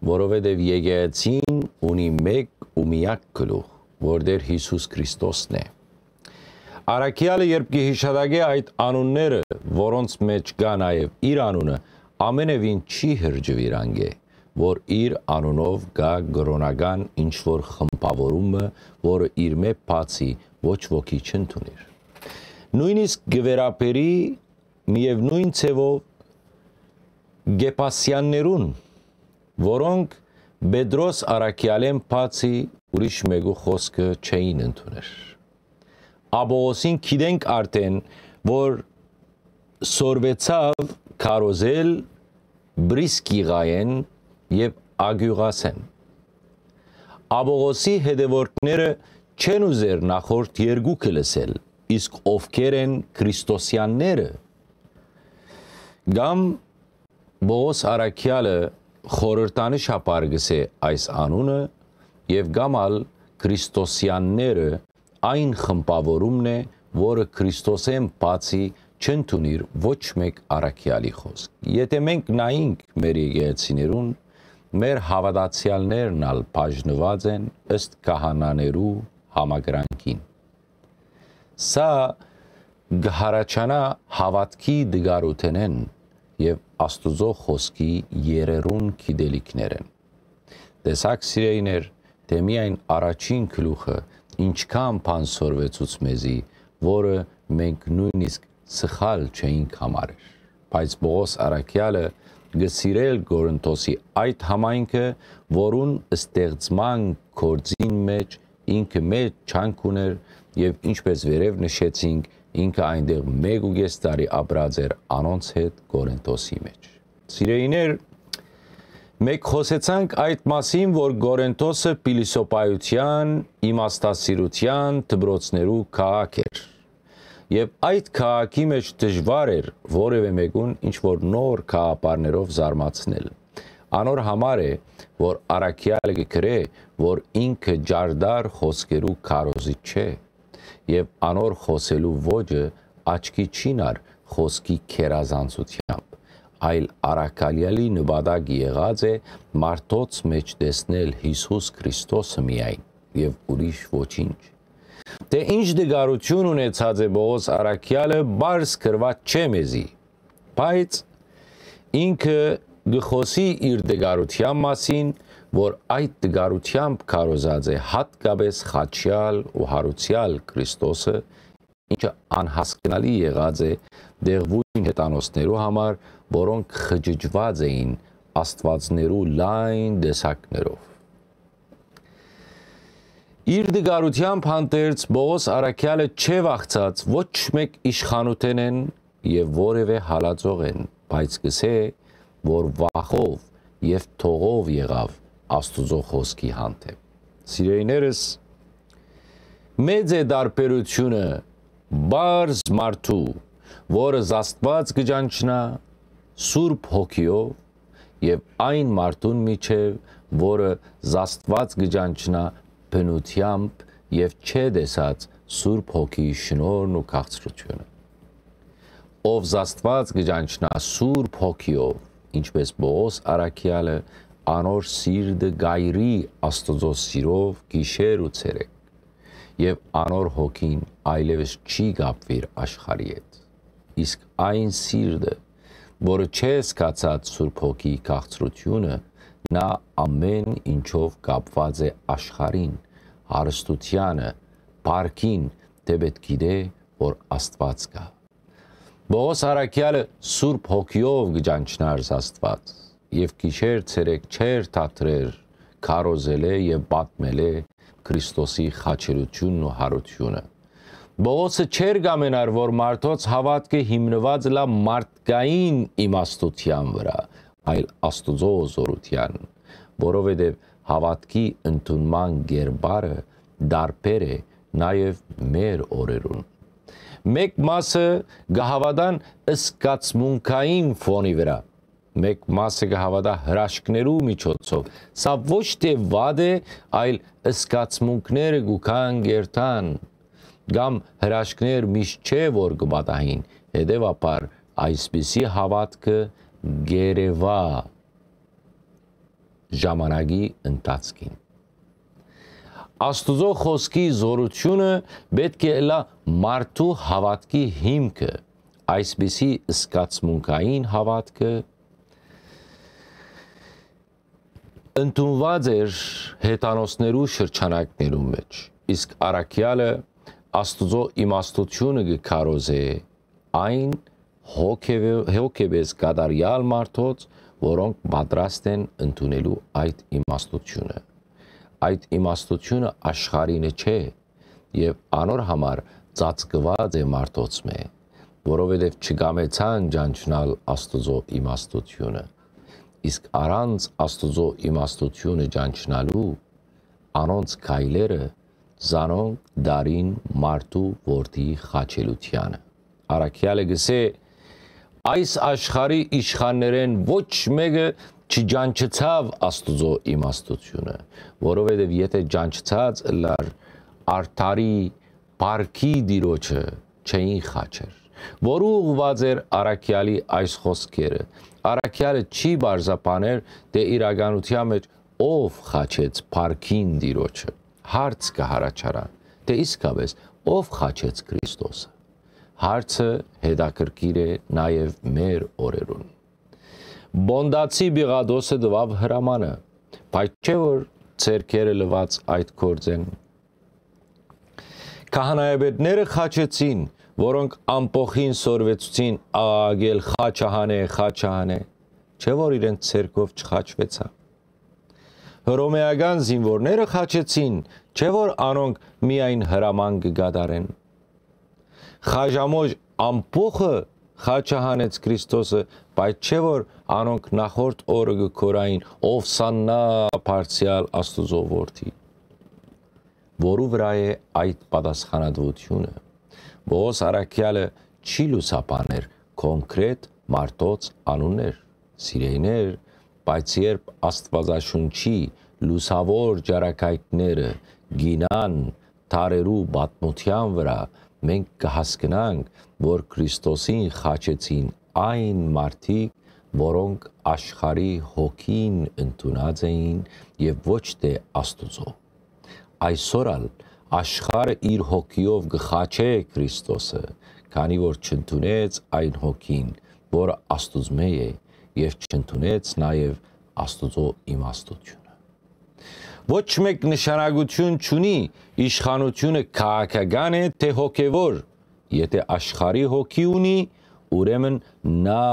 որովհետեւ եկեղեցին ունի մէկ ու միակ գլուխ, որ Տէր Յիսուս Քրիստոսն է։ Առաքեալը, երբ կը յիշատակէ այդ անունները, որոնց մէջ կայ նաեւ իր անունը, ամենեւին չի հրճուիր անկէ, որ իր անունով կայ կրօնական ինչ որ խմբաւորումը, որը իրմէ բացի ոչ ոքի չընդունիր։ Նոյնիսկ կը վերաբերի միեւնոյն ձեւով Կեպասեաններուն, որոնք Պետրոս առաքեալէն բացի ուրիշ մէկու խօսքը չէին ընդուներ։ Աբողոսին գիտենք արդէն, որ սորվեցաւ քարոզել Պրիսկիղայէն եւ Ագիւղասէն։ Աբողոսի հետեւորդները չեն ուզեր նախորդ երկուքը լսել, իսկ ովքեր են Քրիստոսեանները։ Կամ Պողոս առաքեալը խորհրդանշաբար գսէ այս անունը եւ կամ ալ Քրիստոսեանները այն խմբաւորումն է, որը Քրիստոսէն բացի չընդունիր ոչ մէկ առաքեալի խօսք։ Եթէ մենք նայինք մեր եկեղեցիներուն, մեր հաւատացեալներն ալ բաժնուած են ըստ քահանաներու համակրանքին։ Սա կը հառաչանայ հաւատքի տկարութենէն եւ Աստուծոյ խօսքի երերուն գիտելիքներէն։ Տեսա՞ք, սիրելիներ, թէ միայն առաջին գլուխը ինչքան բան սորվեցուց մեզի, որը մենք նոյնիսկ սխալ չէինք համարեր։ Բայց Պողոս առաքեալը կը սիրէր Կորինթոսի այդ համայնքը, որուն ստեղծման գործին մէջ ինքը մեծ ջանք ունէր եւ, ինչպէս վերեւ նշեցինք, ինքը այնտեղ մէկ ու կէս տարի ապրած էր անոնց հետ Կորինթոսի մէջ։ Սիրելիներ, մենք խօսեցանք այդ մասին, որ Կորինթոսը փիլիսոփայութեան, իմաստասիրութեան դպրոցներու քաղաք էր։ Եւ այդ քաղաքի մէջ դժուար էր որեւէ մէկուն ինչ որ նոր գաղափարներով զարմացնել։ Անոր համար է, որ առաքեալը կը գրէ, որ ինքը ջարդար խօսքերու քարոզիչ չէ, եւ անոր խօսելու ոճը աչքի չի նար խօսքի գերազանցութեամբ, այլ առաքեալի նպատակ եղած է մարդոց մէջ տեսնել Յիսուս Քրիստոսը միայն եւ ուրիշ ոչինչ։ Թէ ինչ տկարութիւն ունեցած է Պողոս առաքեալը, պարզ գրուած չէ մեզի, բայց ինքը կը խօսի իր տկարութեան մասին, որ այդ տկարութեամբ քարոզած է յատկապէս խաչեալ ու յարուցեալ Քրիստոսը, ինչը անհասկնալի եղած է դեղուին հեթանոսներու համար, որոնք խճճուած էին աստուածներու լայն տեսակներով։ Իր տկարութեամբ հանդերձ Պողոս առաքեալը չէ վախցած ոչ մէկ իշխանութենէն եւ որեւէ հալածողէն, բայց կսէ, որ վախով եւ թողով եղաւ Աստուծոյ խօսքի հանդէպ։ Սիրելիներս, մեծ է տարբերութիւնը պարզ մարդու, որը զաստուած կը ճանչնայ Սուրբ Հոգիով, եւ այն մարդուն միջեւ, որը զաստուած կը ճանչնայ բնութեամբ եւ չէ տեսած Սուրբ Հոգիի շնորհն ու քաղցրութիւնը։ Ով զաստուած կը ճանչնայ Սուրբ Հոգիով, ինչպէս Պողոս առաքեալը, անոր սիրտը կ'այրի Աստուծոյ սիրով գիշեր ու ցերեկ, եւ անոր հոգին այլեւս չի կապուիր աշխարհի հետ։ Իսկ այն սիրտը, որը չէ զգացած Սուրբ Հոգիի քաղցրութիւնը, նա ամէն ինչով կապուած է աշխարհին, հարստութեանը, փառքին, թէ պէտք գիտէ, որ Աստուած կայ։ Պողոս առաքեալը Սուրբ Հոգիով կը ճանչնար Աստուած եւ գիշեր ցերեկ չէր թատրեր քարոզելէ եւ պատմելէ Քրիստոսի խաչելութիւնն ու յարութիւնը։ Պողոսը չէր կամենար, որ մարդոց հաւատքը հիմնուած ըլլայ մարդկային իմաստութեան վրայ, այլ Աստուծոյ զօրութեան, որովհետեւ հաւատքի ընդունման կերպարը տարբեր է նաեւ մեր օրերուն։ Մէկ մասը կը հաւատան զգացմունքային ֆոնի վրայ, մէկ մասը կը հաւատայ հրաշքներու միջոցով։ Սա ոչ թէ վատ է, այլ զգացմունքները կու գան կ'երթան, կամ հրաշքներ միշտ չէ, որ կը պատահին, հետեւաբար այսպիսի հաւատքը կ'երեւայ ժամանակի ընթացքին։ Աստուծոյ խօսքի զօրութիւնը պէտք է ըլլայ մարդու հաւատքի հիմքը։ Այսպիսի զգացմունքային հաւատքը ընդունուած էր հեթանոսներու շրջանակներուն մէջ, իսկ առաքեալը Աստուծոյ իմաստութիւնը կը քարոզէ այն հոգեւե-, հոգեպես կատարեալ մարդոց, որոնք պատրաստ են ընդունելու այդ իմաստութիւնը։ Այդ իմաստութիւնը աշխարհինը չէ եւ անոր համար ծածկուած է մարդոցմէ, որովհետեւ չկամեցան ճանչնալ Աստուծոյ իմաստութիւնը։ Իսկ առանց Աստուծոյ իմաստութիւնը ճանչնալու անոնց քայլերը զանոնք դարին մարդու որդիի խաչելութեանը։ Առաքեալը կ'ըսէ. «Այս աշխարհի իշխաններէն ոչ մէկը չճանչցաւ Աստուծոյ իմաստութիւնը, որովհետեւ եթէ ճանչցած ըլլար, արդարի փառքի Տիրոջը չէին խաչեր»։ Որու ուղղուած էր առաքեալի այս խօսքերը։ Առաքեալը չի պարզաբաներ, թէ իրականութեան մէջ ով խաչեց փառքին Տիրոջը։ Հարց կը յառաջանայ, թէ իսկապէս ով խաչեց Քրիստոսը։ Հարցը հետաքրքիր է նաեւ մեր օրերուն։ Պոնտացի Պիղատոսը տուաւ հրամանը, բայց չէ՞ որ ձեռքերը լուած այդ գործ են։ Քահանայապետները խաչեցին, որոնք ամբոխին սորվեցուցին աղաղակել. «Խաչը հանէ, խաչը հանէ»։ Չէ՞ որ իրենց ձեռքով չխաչուեցաւ։ Հռոմէական զինուորները խաչեցին, չէ՞ որ անոնք միայն հրաման կը կատարեն։ Խաժամոժ ամբոխը խաչը հանեց Քրիստոսը, բայց չէ՞ որ անոնք նախորդ օրը կը գոռային. «Ովսաննա բարձեալ Աստուծոյ որդի»։ Որու վրայ է այդ պատասխանատուութիւնը։ Պողոս առաքեալը չի լուսաբաներ կոնկրետ մարդոց անուններ, սիրեյներ, բայց երբ Աստուածաշունչի լուսաւոր ճառագայթները գինան դարերու պատմութեան վրայ, մենք կը հասկնանք, որ Քրիստոսին խաչեցին այն մարդիկ, որոնք աշխարհի հոգին ընդունած էին եւ ոչ թէ Աստուծոյ։ Այսօր ալ աշխարհը իր հոգիով կը խաչէ Քրիստոսը, քանի որ չընդունեց այն հոգին, որը Աստուծմէ է, եւ չընդունեց նաեւ Աստուծոյ իմաստութիւնը։ Ոչ մէկ նշանակութիւն չունի իշխանութիւնը քաղաքական է թէ հոգեւոր, եթէ աշխարհի հոգի ունի, ուրեմն նա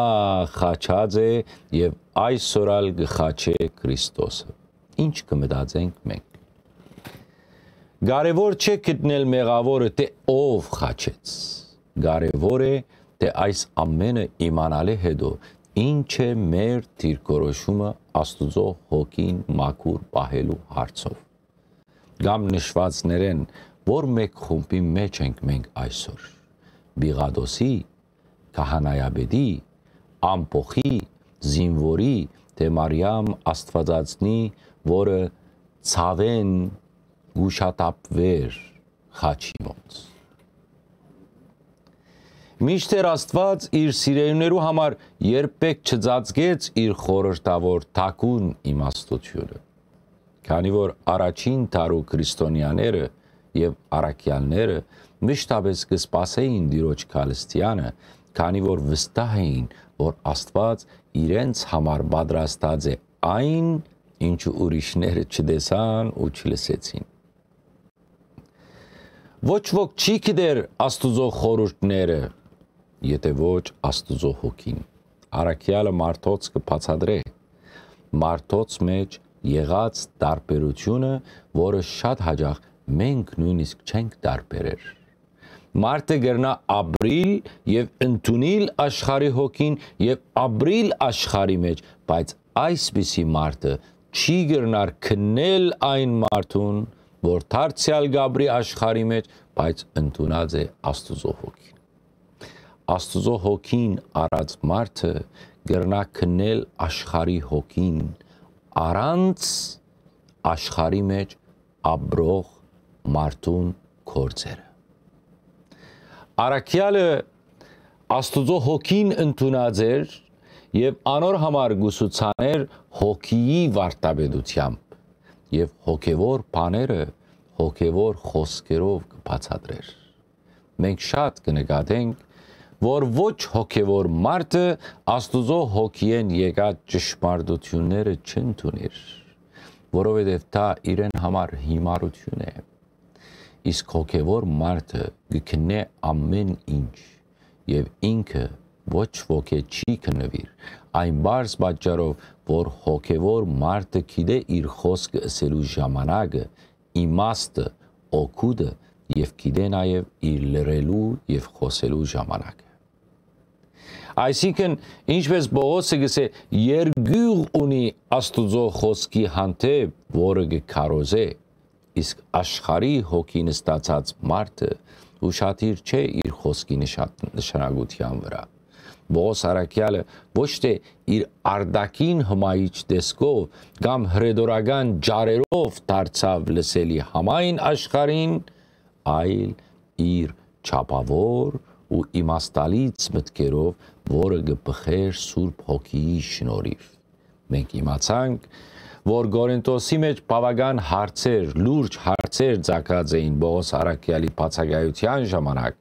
խաչած է եւ այսօր ալ կը խաչէ Քրիստոսը։ Ի՞նչ կը մտածենք մենք։ Կարեւոր չէ գտնել մեղաւորը թէ ով խաչեց։ Կարեւոր է թէ այս ամէնը իմանալէ հետո ի՞նչ է մեր դիրքորոշումը Աստուծոյ հոգին մաքուր պահելու հարցով։ Կամ նշուածներէն ո՞ր մէկ խումբի մէջ ենք մենք այսօր։ Պիղատոսի, քահանայապետի, ամբոխի, զինուորի, թէ Մարիամ Աստուածածնի, որը ցաւէն կ'ուշադափուէր խաչի մօտ։ Մինչդեռ Աստուած իր սիրելիներու համար երբեք չծածկեց իր խորհրդաւոր թաքուն իմաստութիւնը, քանի որ առաջին դարու քրիստոնեաները եւ առաքեալները միշտապէս կը սպասէին Տիրոջ քալստեանը, քանի որ վստահ էին, որ Աստուած իրենց համար պատրաստած է այն, ինչը ուրիշները չտեսան ու չլսեցին։ Ոչ ոք չի գիտեր Աստուծոյ խորհուրդները, եթէ ոչ Աստուծոյ հոգին։ Առաքեալը մարդոց կը բացատրէ մարդոց մէջ եղած տարբերութիւնը, որը շատ յաճախ մենք նոյնիսկ չենք տարբերեր։ Մարդը կրնայ ապրիլ եւ ընդունիլ աշխարհի հոգին եւ ապրիլ աշխարհի մէջ, բայց այսպիսի մարդը չի կրնար քննել այն մարդուն, որ դարձեալ կ'ապրի աշխարհի մէջ, բայց ընդունած է Աստուծոյ հոգին։ Աստուծոյ հոգին առած մարդը կրնայ քննել աշխարհի հոգին առանց աշխարհի մէջ ապրող մարդուն գործերը։ Առաքեալը Աստուծոյ հոգին ընդունած էր եւ անոր համար կուսուցաներ հոգիի վարդապետութեամբ, եւ հոգեւոր բաները հոգեւոր խօսքերով կը բացատրէր։ Մենք շատ կը նկատենք, որ ոչ հոգեւոր մարդը Աստուծոյ հոգիէն եկած ճշմարտութիւնները չընդունիր, որովհետեւ դա իրեն համար հիմարութիւն է։ Իսկ հոգեւոր մարդը կը քննէ ամէն ինչ եւ ինքը ոչ ոք է չի քննուիր, այն պարզ պատճառով, որ հոգեւոր մարդը գիտէ իր խօսքը ըսելու ժամանակը, իմաստը, օգուտը եւ գիտէ նաեւ իր լռելու եւ խօսելու ժամանակը։ Այսինքն, ինչպես Պողոսը կ'ըսէ, երկիւղ ունի Աստուծոյ խօսքի հանդէպ, որը կը քարոզէ, իսկ աշխարհի հոգի նստացած մարդը ուշադիր չէ իր խօսքի նշան-, նշանակութեան վրայ։ Պողոս առաքեալը ոչ թէ իր արտաքին հմայիչ տեսքով կամ հրետորական ջարերով դարձաւ լսելի համայն աշխարհին, այլ իր չափաւոր ու իմաստալից մտքերով, որը կը բխէր Սուրբ Հոգիի շնորհիւ։ Մենք իմացանք, որ Կորինթոսի մէջ բաւական հարցեր, լուրջ հարցեր ծագած էին Պողոս առաքեալի բացակայութեան ժամանակ,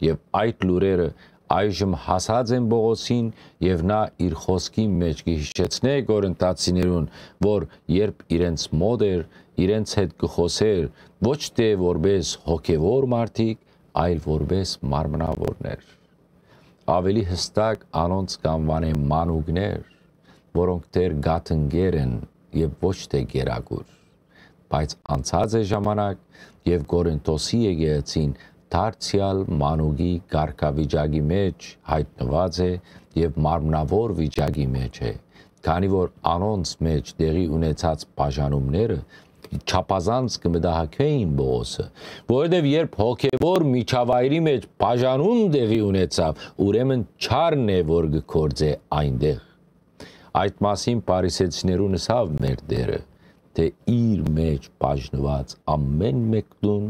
եւ այդ լուրերը այժմ հասած են Պողոսին, եւ նա իր խօսքին մէջ կը յիշեցնէ Կորինթացիներուն, որ երբ իրենց մօտ էր, իրենց հետ կը խօսէր, ոչ թէ որպէս հոգեւոր մարդիկ, այլ որպէս մարմնավորներ։ Աւելի յստակ անոնց կ'անուանէ մանուկներ, որոնք դեռ կաթնկեր են եւ ոչ թէ կերակուր։ Բայց անցած է ժամանակ, եւ Կորինթոսի եկեղեցին դարձեալ մանուկի կարգավիճակի մէջ յայտնուած է եւ մարմնաւոր վիճակի մէջ է, քանի որ անոնց մէջ տեղի ունեցած բաժանումները չափազանց կը մտահոգէին Պողոսը, որովհետեւ երբ հոգեւոր միջավայրի մէջ բաժանում տեղի ունեցաւ, ուրեմն չարն է, որ կը գործէ այնտեղ։ Այդ մասին Փարիսեցիներուն ըսաւ մեր Տէրը, թէ իր մէջ բաժնուած ամէն մէկդուն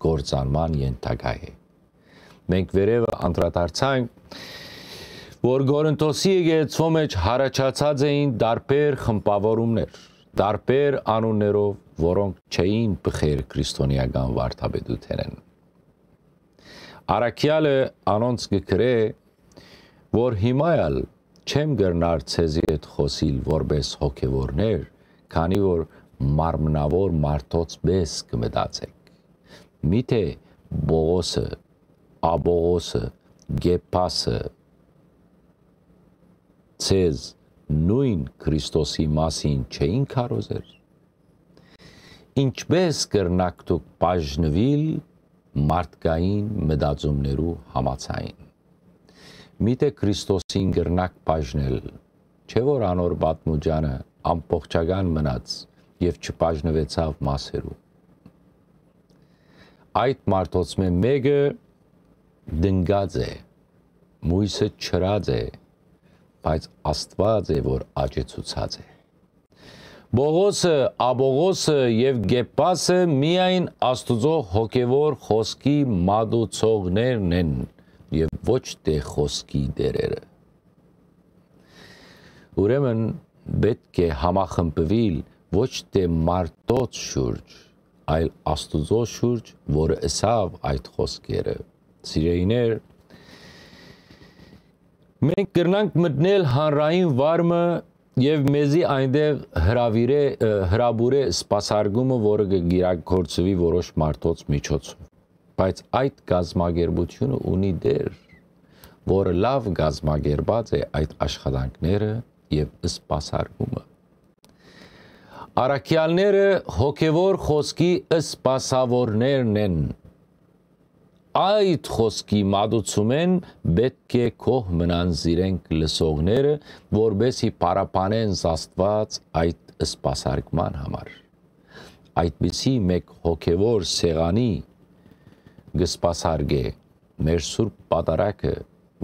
կործանման ենթակայ է։ Մենք վերեւը անդրադարձանք, որ Կորինթոսի եկեղեցւոյ մէջ յառաջացած էին տարբեր խմբաւորումներ, տարբեր անուններով, որոնք չէին բխեր քրիստոնեական վարդապետութենէն։ Առաքեալը անոնց կը գրէ, որ հիմա ալ չեմ կրնար ձեզի հետ խօսիլ որպէս հոգեվորներ, քանի որ մարմնաւոր մարդոց պէս կը մտածէք։ Միթէ Պողոսը, Աբողոսը, Կեպասը ձեզ նոյն Քրիստոսի մասին չէին քարոզեր։ Ինչպէս կրնաք դուք բաժնուիլ մարդկային մտածումներու համաձայն։ Միթէ Քրիստոսին կրնաք բաժնել, չէ՞ որ անոր պատմուճանը ամբողջական մնաց եւ չբաժնուեցաւ մասերու։ Այդ մարդոցմէ մէկը տնկած է, մոյսը չրած է, բայց Աստուած է, որ աճեցուցած է։ Պողոսը, Աբողոսը եւ Կեպասը միայն Աստուծոյ հոգեվոր խօսքի մատուցողներն են եւ ոչ թէ խօսքի տէրերը։ Ուրեմն պէտք է համախմբուիլ ոչ թէ մարդոց շուրջ, այլ Աստուծոյ շուրջ, որը ըսաւ այդ խօսքերը։ Սիրելիներ, մենք կրնանք մտնել հանրային վարմը եւ մեզի այնտեղ հրավիրէ, ը, հրապուրէ սպասարկումը, որը կը կիրագործուի որոշ մարդոց միջոցով։ Բայց այդ կազմակերպությունը ունի Տէր, որը լաւ կազմակերպած է այդ աշխատանքները եւ սպասարկումը։ Առաքեալները հոգեվոր խօսքի սպասաւորներն են։ Այդ խօսքի մատուցումէն պէտք է գոհ մնան զիրենք լսողները, որպէսզի փառաբանեն Աստուած այդ սպասարկման համար։ Այդպիսի մէկ հոգեվոր սեղանի կը սպասարկէ մեր Սուրբ Պատարագը,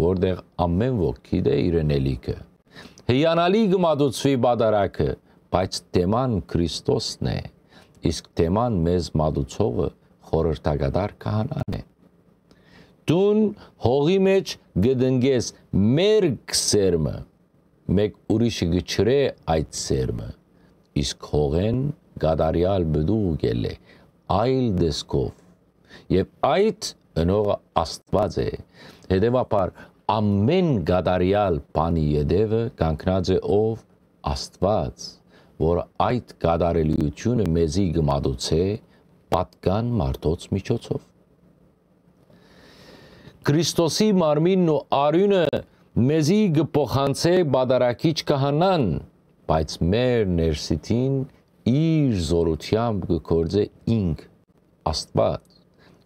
որտեղ ամէն ոք գիտէ իրեն ելիքը։ Հիանալի կը մատուցուի պատարագը, բայց թեման Քրիստոսն է, իսկ թեման մեզ մատուցողը խորհրդակատար քահանան է։ Դուն հողի մէջ կը տնկես մերկ սերմը, մէկ ուրիշը կը չրէ այդ սերմը, իսկ հողէն կատարեալ պտուղ կ'ելլէ, այլ տեսքով։ Եւ այդ ընողը Աստուած է։ Հետեւաբար, ամէն կատարեալ բանի ետեւը կանգնած է ով? Աստուած, որ այդ կատարելիությունը մեզի կը մատուցէ պատկան մարդոց միջոցով։ Քրիստոսի մարմինն ու արիւնը մեզի կը փոխանցէ պատարագիչ քահանան, բայց մեր ներսիդին իր զօրութեամբ կը գործէ ինք, Աստուած։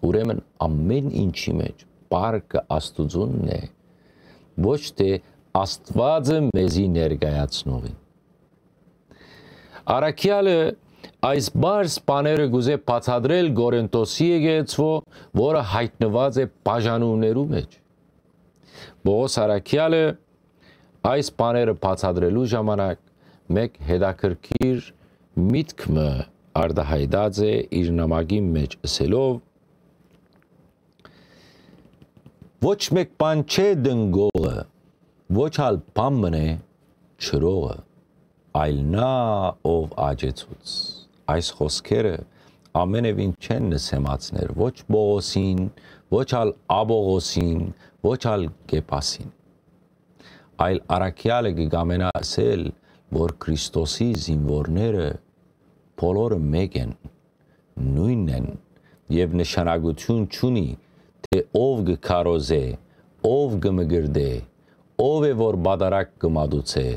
Ուրեմն, ամէն ինչի մէջ պարկը Աստուծունն է, ոչ թէ Աստուածը մեզի ներկայացնողին։ Առաքեալը այս բարձ բաները կուզէ բացատրել Կորինթոսի եկեղեցւոյ, որը յայտնուած է բաժանումներու մէջ։ Պողոս առաքեալը այս բաները բացատրելու ժամանակ մէկ հետաքրքիր միտք մը արտայայտած է իր նամակին մէջ, ըսելով. «Ոչ մէկ բան չէ տնկողը, ոչ ալ բան մըն է չրողը, այլ նա, ով աճեցուց»։ Այս խօսքերը ամենեւին չեն նսեմացներ ոչ Պողոսին, ոչ ալ Աբողոսին, ոչ ալ Կեպասին։ Այլ առաքեալը կը կամենայ ըսել, որ Քրիստոսի զինուորները բոլորը մէկ են, նոյնն են եւ նշանակութիւն չունի, թէ ով կը քարոզէ, ով կը մկրտէ, ով է որ պատարագ կը մատուցէ,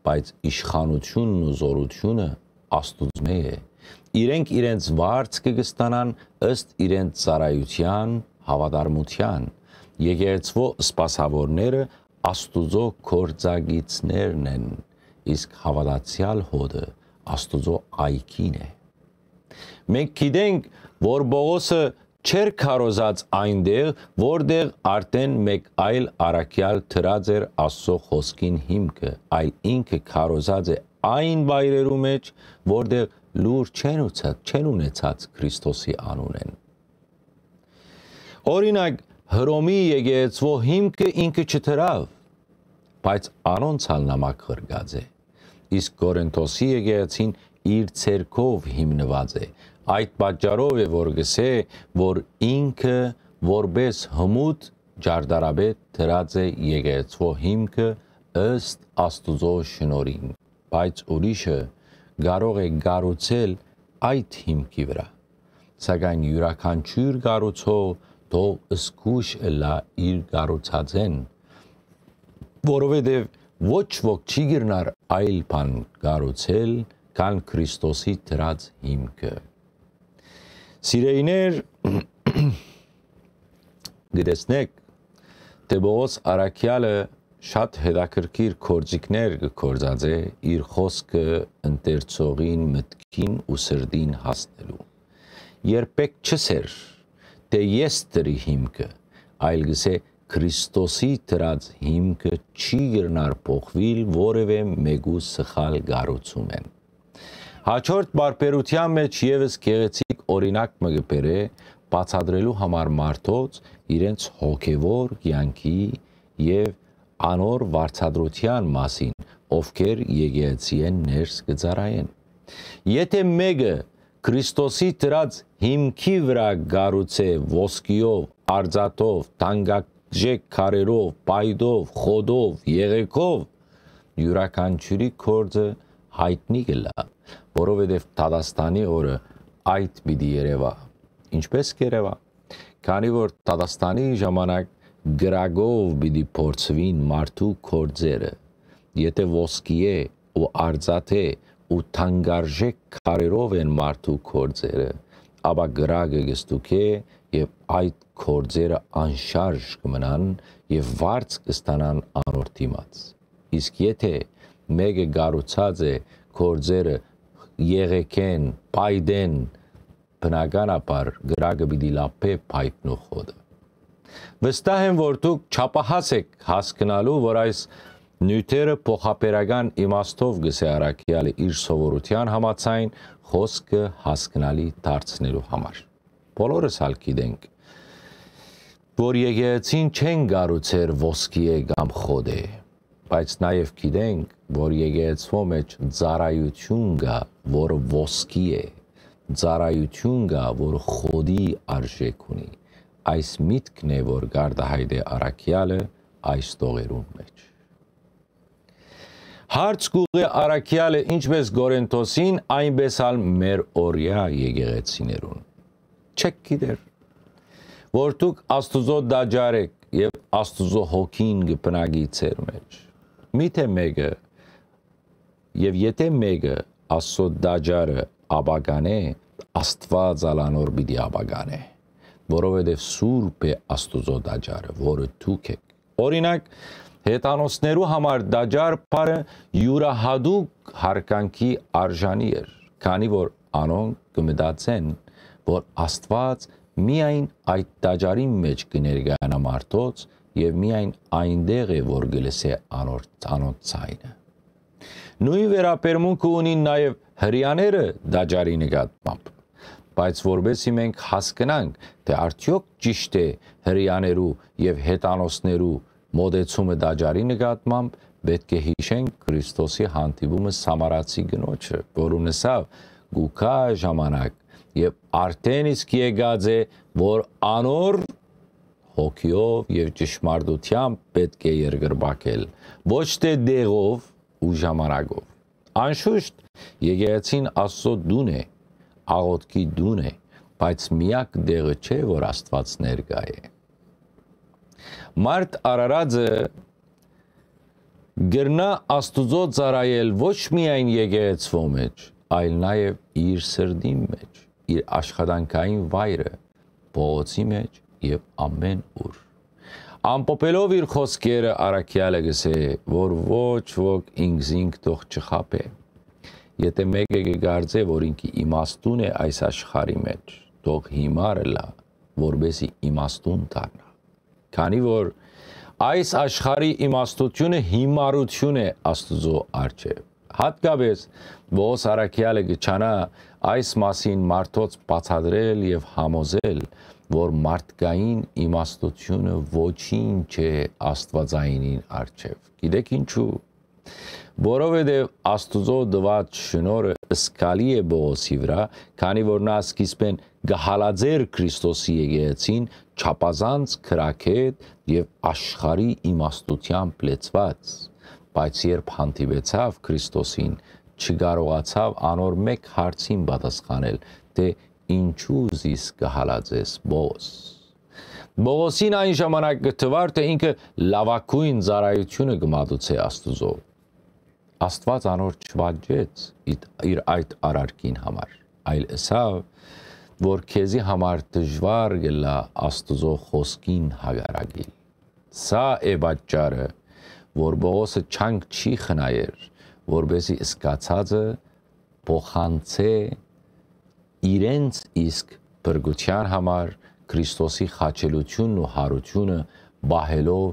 բայց իշխանութիւնն ու զօրութիւնը Աստուծմէ է։ Իրենք իրենց վարձքը կը ստանան ըստ իրենց ծառայութեան, հաւատարմութեան։ Եկեղեցւոյ սպասաւորները Աստուծոյ գործակիցներն են, իսկ հաւատացեալ հօտը Աստուծոյ այգին է։ Մենք գիտենք, որ Պողոսը չէր քարոզած այնտեղ, որտեղ արդէն մէկ այլ առաքեալ դրած էր Աստուծոյ խօսքին հիմքը, այլ ինքը քարոզած է այն վայրերու մէջ, որտեղ լուր չեն, ուցած, չեն ունեցած Քրիստոսի անունէն։ Օրինակ, Հռոմի եկեղեցւոյ հիմքը ինքը չդրաւ, բայց անոնց ալ նամակ ղրկած է, իսկ Կորինթոսի եկեղեցին իր ցերկով հիմնուած է։ Այդ պատճառով է, որ կսէ, որ ինքը որպէս հմուտ ճարտարապետ դրած է եկեղեցւոյ հիմքը ըստ Աստուծոյ շնորհին, բայց ուրիշը կարող է կառուցել այդ հիմքի վրայ, սակայն իւրաքանչիւր կառուցող թող զգոյշ ըլլայ իր կառուցածէն, որովհետեւ ոչ ոք չի կրնար այլ բան կառուցել, քան Քրիստոսի դրած հիմքը։ Սիրելիներ, կը տեսնէք, թէ Պողոս առաքեալը շատ հետաքրքիր գործիքներ կը գործածէ իր խօսքը ընթերցողին մտքին ու սրտին հասնելու։ Երբեք չըսեր, թէ ես դրի հիմքը, այլ կսէ, Քրիստոսի դրած հիմքը չի կրնար փոխուիլ որեւէ մէկու սխալ կառուցումէն։ Հաջորդ պարբերութեան մէջ եւս գեղեցիկ օրինակ մը կը բերէ, բացատրելու համար մարդոց իրենց հոգեւոր կեանքի եւ անոր վարձատրութեան մասին, ովքեր եկեղեցիէն ներս կը ծառայեն։ Եթէ մէկը Քրիստոսի դրած հիմքի վրայ կառուցէ ոսկիով, արծաթով, թանկարժեք քարերով, պայտով, խոտով, եղեգով, իւրաքանչիւրի գործը յայտնի կ'ըլլայ, որովհետեւ դատաստանի օրը այդ պիտի երեւայ։ Ինչպէս կ'երեւայ, քանի որ դատաստանի ժամանակ կրակով պիտի փորձուին մարդու գործերը, եթէ ոսկիէ ու արծաթէ ու թանկարժեք քարերով են մարդու գործերը, ապա կրակը կ'ստուգէ եւ այդ գործերը անշարժ կը մնան եւ վարձ կ'ստանան անոր դիմաց։ Իսկ եթէ մէկը կառուցած է գործերը եղեգէն, պայտէն, բնականաբար կրակը պիտի լափէ պայտն ու խոտը։ Վստահ եմ, որ դուք չափահաս էք հասկնալու, որ այս նիւթերը փոխաբերական իմաստով կ'ըսէ առաքեալը իր սովորութեան համաձայն խօսքը հասկնալի դարձնելու համար։ Բոլորս ալ գիտենք, որ եկեղեցին չեն կառուցեր ոսկիէ կամ խոտէ, բայց նաեւ գիտենք, որ եկեղեցւոյ մէջ ծառայութիւն կայ, որ ոսկի է, ծառայութիւն կայ, որ խոտի արժէք ունի։ Այս միտքն է, որ կ'արտայայտէ առաքեալը այս տողերուն մէջ։ Հարց կ'ուղղէ առաքեալը, ինչպէս Կորինթոսին, այնպէս ալ մեր օրեայ եկեղեցիներուն։ Չէք գիտեր, որ դուք Աստուծոյ տաճար էք եւ Աստուծոյ հոգին կը բնակի ձեր մէջ։ Միթէ մէկը, եւ եթէ մէկը Աստուծոյ տաճարը ապականէ, Աստուած ալ անոր պիտի ապականէ, որովհետեւ սուրբ է Աստուծոյ տաճարը, որը դուք էք։ Օրինակ, հեթանոսներու համար տաճար բառը իւրայատուկ յարգանքի արժանի էր, քանի որ անոնք կը մտածեն, որ Աստուած միայն այդ տաճարին մէջ կը ներկայանայ մարդոց եւ միայն այնտեղ է, որ կը լսէ անոր, անոնց ձայնը։ Նոյն վերաբերմունքը ունին նաեւ հրեաները տաճարի նկատմամբ, բայց որպեսզի մենք հասկնանք, թէ արդեօք ճիշդ է հրեաներու եւ հեթանոսներու մոտեցումը տաճարի նկատմամբ, պէտք է յիշենք Քրիստոսի հանդիպումը սամարացի կնոջը, որուն ըսաւ. «Կու գայ ժամանակ, եւ արդէն իսկ եկած է, որ անոր հոգիով եւ ճշմարտությամբ պէտք է երկրպագել, ոչ թէ տեղով ու ժամանակով»։ Անշուշտ, եկեղեցին Աստուծոյ տուն է, աղօթքի տուն է, բայց միակ տեղը չէ, որ Աստուած ներկայ է։ Մարդ արարածը կրնայ Աստուծոյ ծառայել ոչ միայն եկեղեցւոյ մէջ, այլ նաեւ իր սրտին մէջ, իր աշխատանքային վայրը, փողոցի մէջ եւ ամէն ուր։ Ամփոփելով իր խօսքերը, առաքեալը կ'ըսէ, որ ոչ ոք ինքզինք թող չխաբէ։ Եթէ մէկը կը կարծէ, որ ինքը իմաստուն է այս աշխարհի մէջ, թող հիմար ըլլայ, որպեսզի իմաստուն դառնայ։ Քանի որ այս աշխարհի իմաստութիւնը հիմարութիւն է Աստուծոյ առջեւ։ Յատկապէս Պողոս առաքեալը կը ջանայ այս մասին մարդոց բացատրել եւ համոզել, որ մարդկային իմաստութիւնը ոչինչ է Աստուածայինին առջեւ։ Գիտէք ինչու՞։ Որովհետեւ Աստուծոյ տուած շնորհը զգալի է Պողոսի վրայ, քանի որ նա սկիզբէն կը հալածէր Քրիստոսի եկեղեցին չափազանց գրագէտ եւ աշխարհի իմաստութեամբ լեցուած, բայց երբ հանդիպեցաւ Քրիստոսին, չկարողացաւ անոր մէկ հարցին պատասխանել, թէ ինչու զիս կը հալածես, Պողոս։ Պողոսին այն ժամանակ կը թուար, թէ ինքը լաւագոյն ծառայութիւնը կը մատուցէ Աստուծոյ։ Աստուած անոր չվաճեց իդ-, իր այդ արարքին համար, այլ ըսաւ, որ քեզի համար դժուար կ'ըլլայ Աստուծոյ խօսքին հակառակիլ։ Սա է պատճառը, որ Պողոսը չանք չի խնայեր, որպեսզի սկացածը փոխանցէ իրենց իսկ փրկութեան համար Քրիստոսի խաչելութիւնն ու յարութիւնը պահելով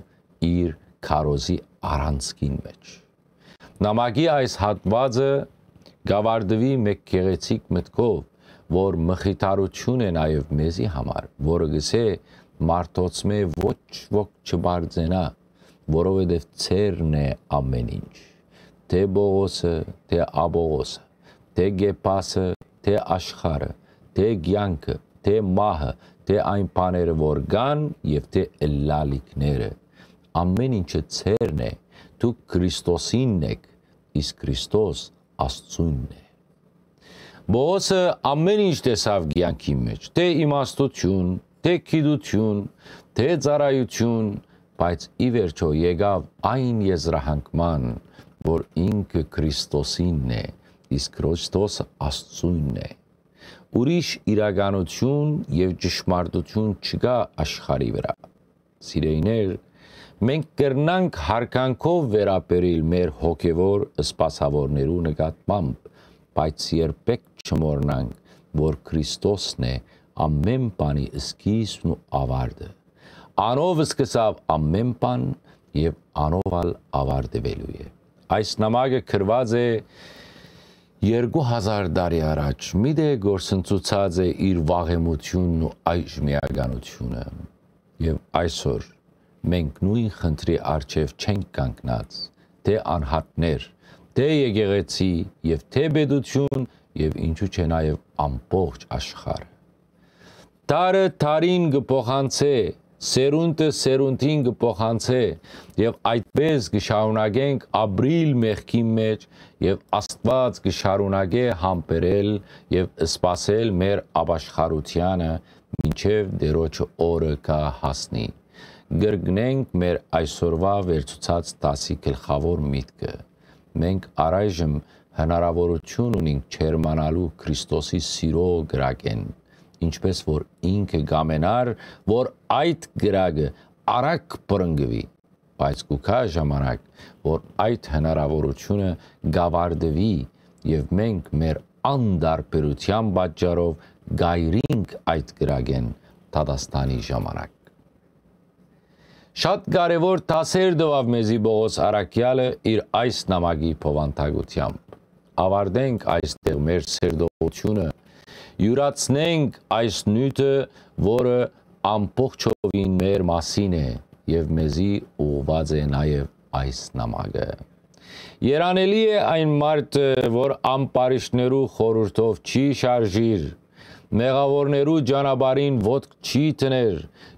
իր քարոզի առանցքին մէջ։ Նամակի այս հատուածը կ'աւարտուի մէկ գեղեցիկ մտքով, որ մխիթարութիւն է նաեւ մեզի համար, որը կ'ըսէ. «Մարդոցմէ ոչ ոք չբարձենայ, որովհետեւ ձերն է ամէն ինչ։ Թէ Պողոսը, թէ Աբողոսը, թէ Կեփասը, թէ աշխարհը, թէ կեանքը, թէ մահը, թէ այն բաները, որ կան եւ թէ ըլլալիքները, ամէն ինչը ձերն է, դուք Քրիստոսինն էք, իսկ Քրիստոս Աստուծոյնն է»։ Պողոսը ամէն ինչ տեսաւ կեանքի մէջ, թէ իմաստութիւն, թէ գիտութիւն, թէ ծառայութիւն, բայց ի վերջոյ եկաւ այն եզրահանգման, որ ինքը Քրիստոսինն է, իսկ Քրիստոսը Աստուծոյնն է։ Ուրիշ իրականութիւն եւ ճշմարտութիւն չկայ աշխարհի վրայ։ Սիրելիներ, մենք կրնանք յարգանքով վերաբերիլ մեր հոգեվոր սպասաւորներու նկատմամբ, բայց երբեք չմոռնանք, որ Քրիստոսն է ամէն բանի սկիզբն ու աւարտը։ Անով սկսաւ ամէն բան եւ անով ալ աւարտուելու է։ Այս նամակը գրուած է երկու հազար տարի առաջ, մի դե գործընծուցած է իր վաղեմութիւնն ու այժմեականութիւնը։ Եւ այսօր մենք նոյն խնդրի առջեւ չենք կանգնած, թէ անհատներ, թէ եկեղեցի եւ թէ պետութիւն եւ ինչու՞ չէ նաեւ ամբողջ աշխարհը։ Դարը դարին կը փոխանցէ, սերունդը սերունդին կը փոխանցէ, եւ այդպէս կը շարունակենք ապրիլ մեղքին մէջ, եւ Աստուած կը շարունակէ համբերել եւ սպասել մեր ապաշխարութեանը, մինչեւ Տիրոջը օրը կը հասնի։ Կրկնենք մեր այսօրուայ վերցուցած դասի գլխաւոր միտքը։ Մենք առայժմ հնարաւորութիւն ունինք ջերմանալու Քրիստոսի սիրո կրակէն, ինչպէս որ ինքը կ'ամենար, որ այդ կրակը արագ բռնկուի, բայց կու գայ ժամանակ, որ այդ հնարաւորութիւնը կ'ավարտուի եւ մենք մեր անտարբերութեան պատճառով կ'այրինք այդ կրակէն դատաստանի ժամանակ։ Շատ կարեւոր դասեր տուաւ մեզի Պողոս առաքեալը իր այս նամակի բովանդակութեամբ։ Ավարտենք այստեղ մեր սերտողութիւնը, իւրացնենք այս նիւթը, որը ամբողջովին մեր մասին է եւ մեզի ուղղուած է նաեւ այս նամակը։ Երանելի է այն մարդը, որ ամբարիշտներու խորհուրդով չի շարժիր, մեղաւորներու ճանապարհին ոտք չի դներ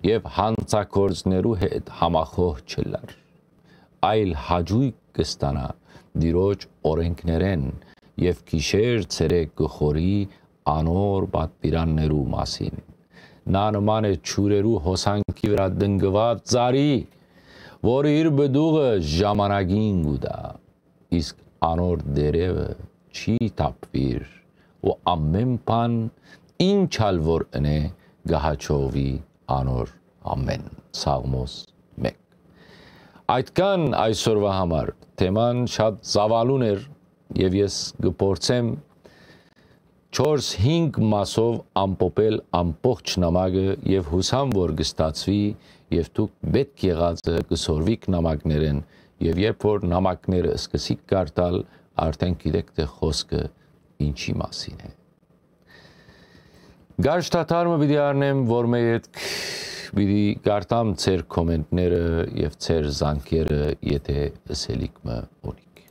եւ յանցագործներու հետ համախոհ չըլլար, այլ հաճոյք կը ստանայ Տիրոջ օրէնքներէն եւ գիշեր ցերեկ կը խորհի անոր պատուիրաններու մասին։ Նա նման է ջուրերու հոսանքի վրայ տնկուած ծառի, որ իր պտուղը ժամանակին կու տայ, իսկ անոր տերեւը չի թափուիր, ու ամէն բան, ինչ ալ որ ընէ, կը հաջողուի անոր ամէն։ Սաղմոս մէկ։ Այդքան այսօրուայ համար, թեման շատ ծաւալուն էր եւ ես կը փորձեմ չորս-հինգ մասով ամփոփել ամբողջ նամակը եւ յուսամ որ կը ստացուի եւ դուք պէտք եղածը կը սորվիք նամակներէն եւ երբ որ նամակները սկսիք կարդալ, արդեն գիտեք թէ խօսքը ինչի մասին է։ Գարշ թաթար մը պիտի առնեմ, որ մէ ետք պիտի կարդամ ձեր կոմենտները եւ ձեր զանգերը, եթե ըսելիք մը ունիք։